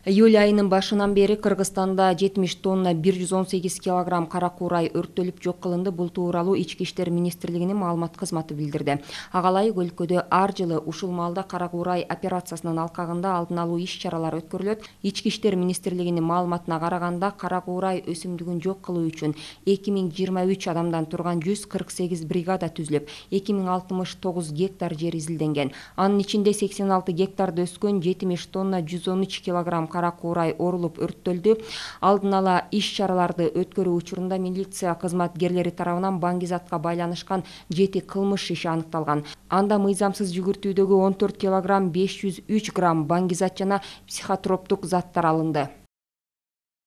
Июль айынын башынан бери Кыргызстанда 70 тонна 118 килограмм кара куурай өрттөлүп жок кылынды. Бул тууралуу Ички иштер министрлигинин маалымат кызматы билдирди. Ага ылайык өлкөдө ар жылы ушул маалда кара куурай операциясынын алкагында алдын алуу иш-чаралар өткөрүлөт. Ички иштер министрлигинин маалыматына караганда, кара куурай өсүмдүгүн жок кылуу үчүн 2023 адамдан турган 148 бригада түзүлүп, 2069 гектар жер изилденген. Анын ичинде 86 гектарда өскөн 70 тонна 113 килограмм кара куурай орулуп өрттөлдү. Алдын ала иш-чараларды өткөрүү учурунда милиция кызматкерлери тарабынан баңгизатка байланышкан 7 кылмыш иши аныкталган. Анда мыйзамсыз жүгүртүүдөгү 14 килограмм 503 грамм баңгизат жана психотроптук заттар алынды.